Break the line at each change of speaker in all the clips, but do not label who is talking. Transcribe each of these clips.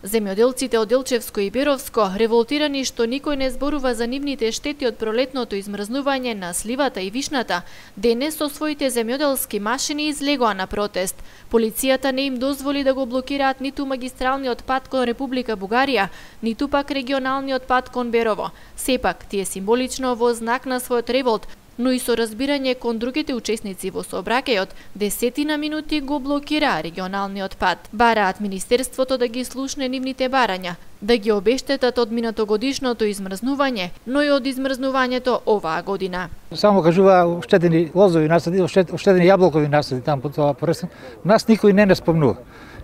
Земјоделците од Делчевско и Беровско, револтирани што никој не зборува за нивните штети од пролетното измрзнување на сливата и вишната, денес со своите земјоделски машини излегоа на протест. Полицијата не им дозволи да го блокираат ниту магистралниот пат кон Република Бугарија, ниту пак регионалниот пат кон Берово. Сепак, тие символично во знак на својот револт, но и со разбирање кон другите учесници во сообраќајот, десетина минути го блокира регионалниот пат. Бараат Министерството да ги слушне нивните барања, да ги обештетат од минатогодишното измрзнување, но и од измрзнувањето оваа година.
Само кажува оштедени лозови насади, оштедени јаблокови насади там по тоа пресен. Нас никој не спомнува.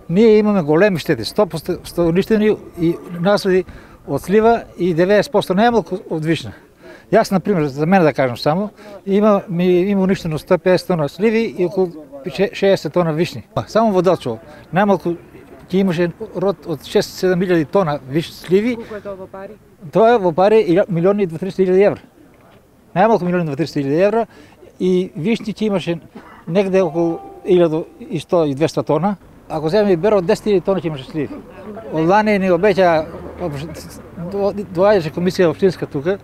Ние имаме големи штети, 100% уништени и насади од слива и 90% на јаблоко од вишна. Јас, например, за мене да кажам само, има уништено 150 тона сливи и околу 60 тона вишни. Само во Делчево, најмалку ќе имаше род од 6-7 тона сливи.
Колку е тоа во пари?
Тоа во пари 1.200.000 евра. Најмалку 1.200.000 евра и вишни ќе имаше негде околу 1.100-200 тона. Ако земе Беро 10.000 тона ќе имаше сливи. Од лани ни обеќа, доаѓаше комисија општинска тука,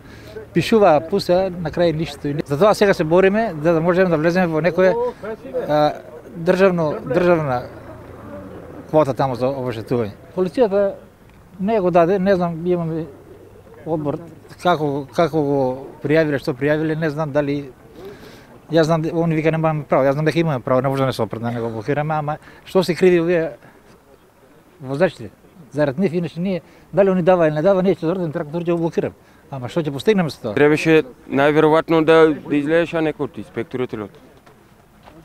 пишува, пуса, на крај ништо. Затоа сега се бориме да можеме да влеземе во некоја државна квота тамо за обештетување. Полицијата не го даде, не знам, имаме одбор како го пријавиле, што пријавиле, не знам дали. Јас знам, они вика немаме право, јас знам дека имаме право, не може да не се опред да го блокираме, ама што се криви овие возачите? Зарад нив, иначе ние, дали они дава или не дава, ние ќе дорден трактор ќе го блокираме. Ама што ќе постигнеме со тоа?
Требаше најверојатно да излезеше некој од инспекторот или од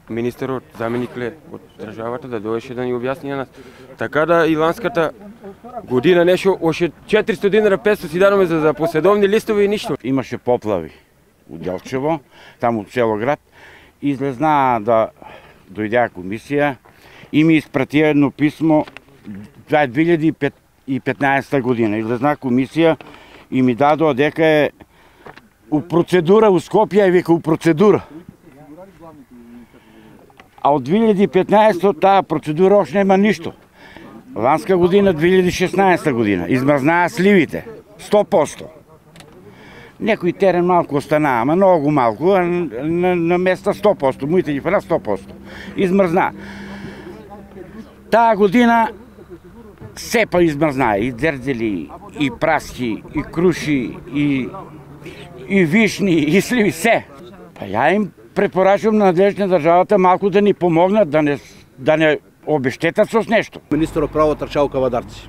министерот, заменикле од државата да доеше да ни објасни на нас. Така да и ланската година нешто още 400 динара 500 си дадоме за поседовни листови и ништо.
Имаше поплави у Делчево, таму цело град. Излезна да дојдеа комисија и ми испратија едно писмо. Това е 2015 година. Излезна комисија и ми дадоа дека е у процедура у Скопје, и вика у процедура. А од 2015 таа процедура още нема ништо. Ланска година, 2016 година, измрзнаа сливите, 100%. Некој терен малку останаа, ама многу малку, на места 100%, моите ги фана 100%. Измрзнаа. Таа година сепа измрзнаа, и дзердзели, и праски, и круши, и вишни, и сливи, се. Па ја им препорачувам на надлежните државата малку да ни помогнат, да не обештетат со нешто.
Министерот право трчал кавадарци.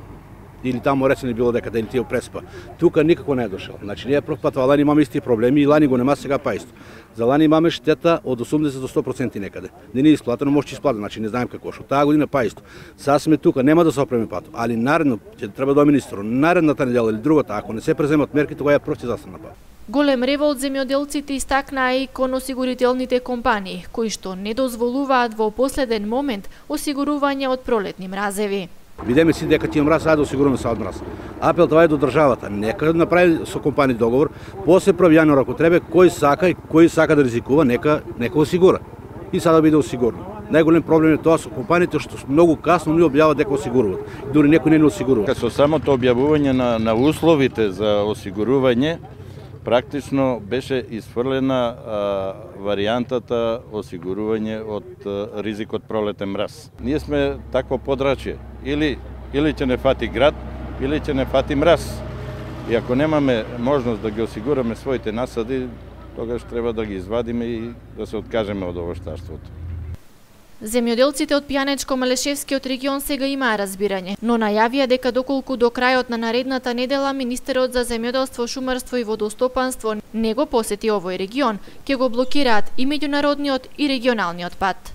Или таму речени било дека или тие преспа. Тука никако не е дошол. Значи ние прв пат лани имаме исти проблеми и лани го нема, сега па исто. За лани имаме штета од 80 до 100% некаде. Не ни исплатено, може ќе исплати, значи не знаем како што. Таа година па исто. Сега сме тука, нема да се опреме пато, али наредно ќе треба да министерот, наредната недела или другата, ако не се преземат мерки, тогаш ја прв ќе застане пат.
Голем револт земјоделците истакнаа и кон осигурителните компании, кои што не дозволуваат во последен момент осигурување од пролетни мразеви.
Видиме си дека тие мрази да осигуруваме са од мраз. Апел тоа е до државата. Нека направи со компании договор, после 1 јануар ако треба, кој сака да ризикува, нека осигура. И сада биде осигурено. Најголем проблем е тоа со компаниите што многу касно ни објават дека осигуруваат. Дури некој не осигурува.
Со самото објавување на условите за осигурување, практично беше изфрлена варијантата осигурување од ризикот пролетен мраз. Ние сме такво подрачје. Или ќе не фати град, или ќе не фати мраз. И ако немаме можност да ги осигураме своите насади, тогаш треба да ги извадиме и да се откажеме од овоштарството.
Земјоделците од Пијанечко-Малешевскиот регион сега имаа разбирање, но најавија дека доколку до крајот на наредната недела Министерот за земјоделство, шумарство и водостопанство не го посети овој регион, ќе го блокираат и меѓународниот и регионалниот пат.